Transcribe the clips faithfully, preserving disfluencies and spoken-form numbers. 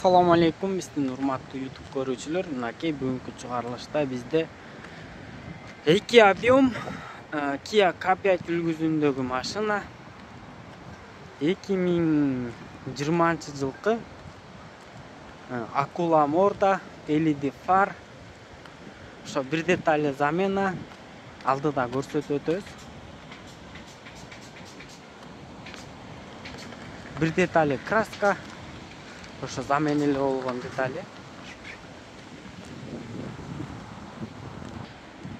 Assalamu alaikum, биздин урматтуу YouTube көрүүчүлөр. Мынакей бүгүнкү чыгарылышта бизде эки объем Kia K пять үлгүсүндөгү машина эки миң жыйырманчы жылкы акула морда, L E D фар, ошо бир детали замена, алдыда көрсөтүп өтөбүз. Бир детали краска, ошо заменили болгон детали.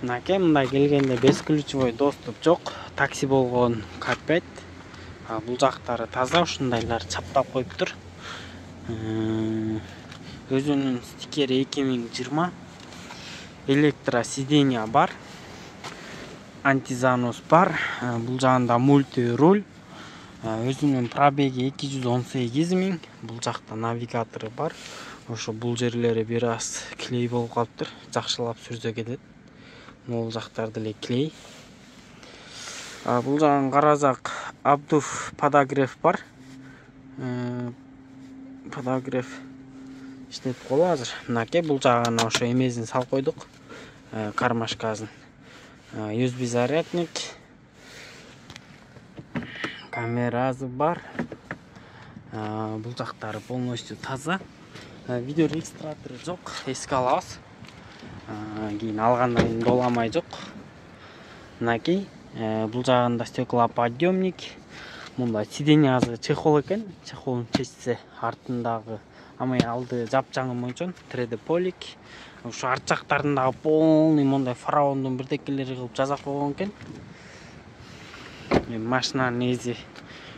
Мынакей мындай келгенде бесключевой доступ жок, такси болгон K пять. Бул жактары таза, ушундайлар чаптап коюптур. Өзүнүн стикери эки миң жыйырма. Электро сиденья бар. Антизанос бар. Бул жагында мульти руль. Өзүнүн пробеги эки жүз он сегиз миң. Бул жакта навигатору бар. Ошо бул жерлери бир аз клей болуп калыптыр. Жакшылап сүрсө кетет. Бул жактар деле клей. Бул жагын карасак, обдув подогрев бар. Подогрев иштеп калды азыр. Мынакей бул жагына ошо эмесин салып койдук. Кармашкасын. ю эс би зарядник. Камерасы бар. Бул жактары полностью таза. Видео регистратору жок, эске алабыз. Кийин алгандан кийин доламай жок. Мынакей бул жагында стеклоподъемник. Мында сиденьясы чехол экен. Чехолун чечсе артындагы амай алды жапжаңы мончон три D полик. Ошо арт жактарындагы полный мондай фараондун бирдекелери кылып жасап койгон экен. Машинанын эзи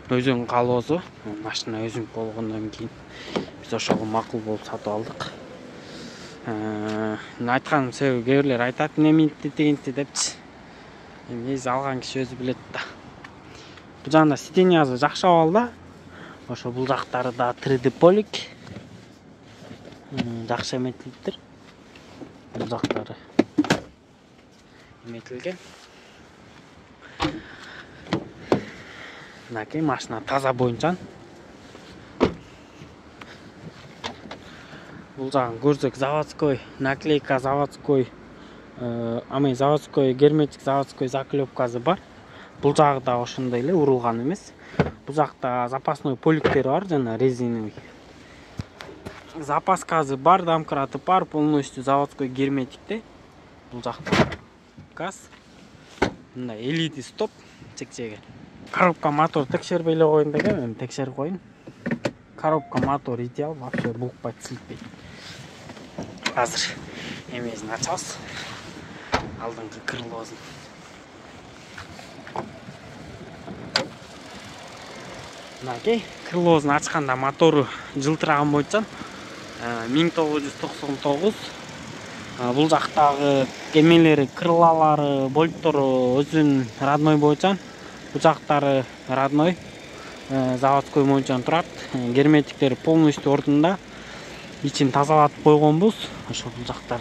өзүнүн калоосу. Машина өзүнүн болгондон кийин биз ошого макул болуп сатып алдык. Айткан себеби кээ бирлер айтат, эмне дегенти депчи. Эми эзи алган киши өзү билет да. Бул жагында сиденьясы жакшы абалда. Ошо бул жактары да три D полик. Жакшы эметилиптир. Бул жактары эметилген. Мынакей машина таза боюнчан. Бул жагын көрсөк, заводской наклейка, заводской аме заводской герметик, заводской заклепкасы бар. Бул жагы да ошондой эле урулган эмес. Бул жакта запасной поликтери бар, жана резиновый. Запаскасы бар, домкраты бар, полностью заводской герметикте. Бул жакта газ. Мындай L E D стоп чек-чеге. Коробка мотор текшербей эле коюн дегем, эми текшерип коюн. Коробка мотор идеал, вообще булкпайт, силтпейт. Азыр эмесин ачабыз. Алдыңкы крылосын. Мынакей крылосын ачканда мотору жылтыраган бойчан миң тогуз жүз токсон тогуз. Бул жактагы эмелери, крылалары, болттору өзүнүн родной бойчан. Бул жактары родной, заводской бойчан турат. Герметиктери полностью ордунда. Ичин тазалатып койгонбуз. Ошо бул жактар.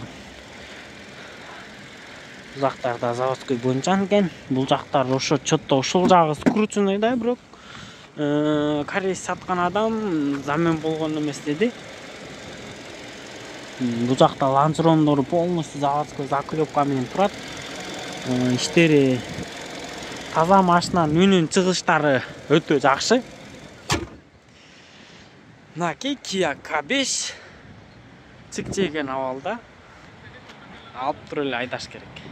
Бул жактар да заводской бойчан экен. Бул жактар ошо чотто ушул жагы скрученный да, бирок корейс саткан адам замен болгон эмес деди. Бул жакта лонжерондору полностью заводской заклепка менен турат. Иштери таза, машинанын үнүнүн чыгыштары өтө жакшы. Мынакей Kia K беш чек-чеген абалда. Алып туруп эле айдаш керек.